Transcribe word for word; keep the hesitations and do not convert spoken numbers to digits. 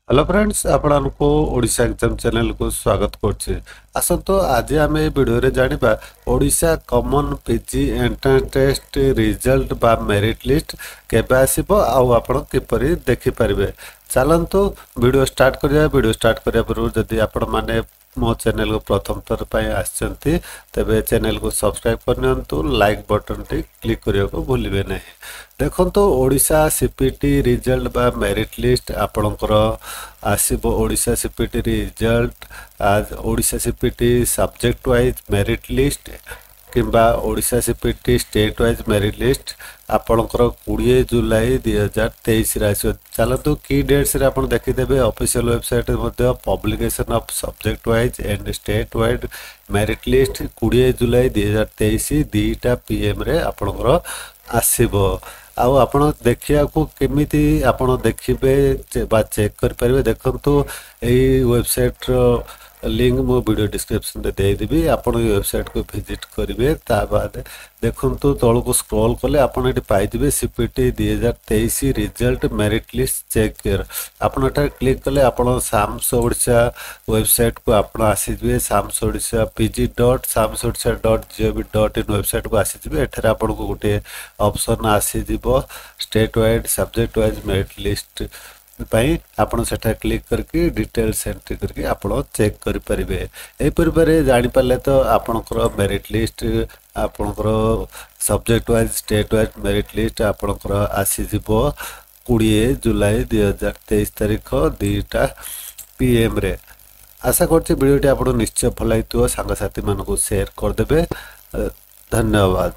Hello friends, ଆପଣମାନଙ୍କୁ Odisha exam ଚ୍ୟାନେଲକୁ ସ୍ୱାଗତ କରୁଛି। ଆସନ୍ତୁ, ଆଜି ଆମେ ଏ ଭିଡ଼ିଓରେ ଜାଣିବା Odisha common PG entrance test result ବା ମେରିଟ୍ ଲିଷ୍ଟ କେବେ ଆସିବ ଆଉ ଆପଣ କିପରି ଦେଖିପାରିବେ। ଚାଲନ୍ତୁ ଭିଡ଼ିଓ ଷ୍ଟାର୍ଟ କରିବା। ଭିଡ଼ିଓ ଷ୍ଟାର୍ଟ କରିବା ପୂର୍ବରୁ ଯଦି ଆପଣମାନେ ମୋ ଚ୍ୟାନେଲକୁ ପ୍ରଥମ ଥର ପାଇଁ ଆସିଛନ୍ତି, ତେବେ ଚ୍ୟାନେଲକୁ ସବସ୍କ୍ରାଇବ୍ କରିନିଅନ୍ତୁ, ଲାଇକ୍ ବଟନ୍ଟି କ୍ଲିକ୍ କରିବାକୁ ଭୁଲିବେ ନାହିଁ। ଦେଖନ୍ତୁ, Odisha C P T result ବା ମେରିଟ୍ ଲିଷ୍ଟ ଆପଣଙ୍କର ଆସିବ। Odisha C P T result, Odisha C P T subject wise merit list କିମ୍ବା Odisha C P T state wise merit list ଆପଣଙ୍କର କୋଡ଼ିଏ ଜୁଲାଇ ଦୁଇ ହଜାର ତେଇଶରେ ଆସିବ। ଚାଲନ୍ତୁ, କି ଡେଟ୍ସରେ ଆପଣ ଦେଖିଦେବେ। ଅଫିସିଆଲ ୱେବସାଇଟ୍ରେ ମଧ୍ୟ publication of subject wise and state wise merit list କୋଡ଼ିଏ ଜୁଲାଇ ଦୁଇ ହଜାର ତେଇଶ ଦୁଇଟା ପି ଏମ୍ରେ ଆପଣଙ୍କର ଆସିବ। ଆଉ ଆପଣ ଦେଖିବାକୁ କେମିତି ଆପଣ ଦେଖିବେ ବା ଚେକ୍ କରିପାରିବେ? ଦେଖନ୍ତୁ, ଏଇ ୱେବସାଇଟ୍ର ଲିଙ୍କ୍ ମୁଁ ଭିଡ଼ିଓ ଡିସ୍କ୍ରିପ୍ସନରେ ଦେଇଦେବି। ଆପଣ ଏଇ ୱେବସାଇଟ୍କୁ ଭିଜିଟ୍ କରିବେ। ତା ବାଦ ଦେଖନ୍ତୁ, ତଳକୁ ସ୍କ୍ରୋଲ୍ କଲେ ଆପଣ ଏଠି ପାଇଯିବେ ସି ପି ଟି ଦୁଇ ହଜାର ତେଇଶ ରିଜଲ୍ଟ ମେରିଟ୍ ଲିଷ୍ଟ ଚେକ୍। ଆପଣ ଏଠାରେ କ୍ଲିକ୍ କଲେ ଆପଣ ସାମ୍ସ ଓଡ଼ିଶା ୱେବସାଇଟ୍କୁ ଆପଣ ଆସିଯିବେ। SAMS Odisha P G dot SAMS Odisha dot GOV dot in ୱେବସାଇଟ୍କୁ ଆସିଯିବେ। ଏଠାରେ ଆପଣଙ୍କୁ ଗୋଟିଏ ଅପସନ୍ ଆସିଯିବ state wise, subject wise merit list ପାଇଁ। ଆପଣ ସେଠାରେ କ୍ଲିକ୍ କରିକି ଡିଟେଲ୍ସ ଏଣ୍ଟ୍ରି କରିକି ଆପଣ ଚେକ୍ କରିପାରିବେ। ଏହିପରି ଭାବରେ ଜାଣିପାରିଲେ ତ, ଆପଣଙ୍କର ମେରିଟ୍ ଲିଷ୍ଟ, ଆପଣଙ୍କର subject wise, state wise merit list ଆପଣଙ୍କର ଆସିଯିବ କୋଡ଼ିଏ ଜୁଲାଇ ଦୁଇ ହଜାର ତେଇଶ ତାରିଖ ଦୁଇଟା ପି ଏମ୍ରେ। ଆଶା କରୁଛି ଭିଡ଼ିଓଟି ଆପଣଙ୍କୁ ନିଶ୍ଚୟ ଭଲ ଲାଗିଥିବ। ସାଙ୍ଗସାଥିମାନଙ୍କୁ ସେୟାର କରିଦେବେ। ଧନ୍ୟବାଦ।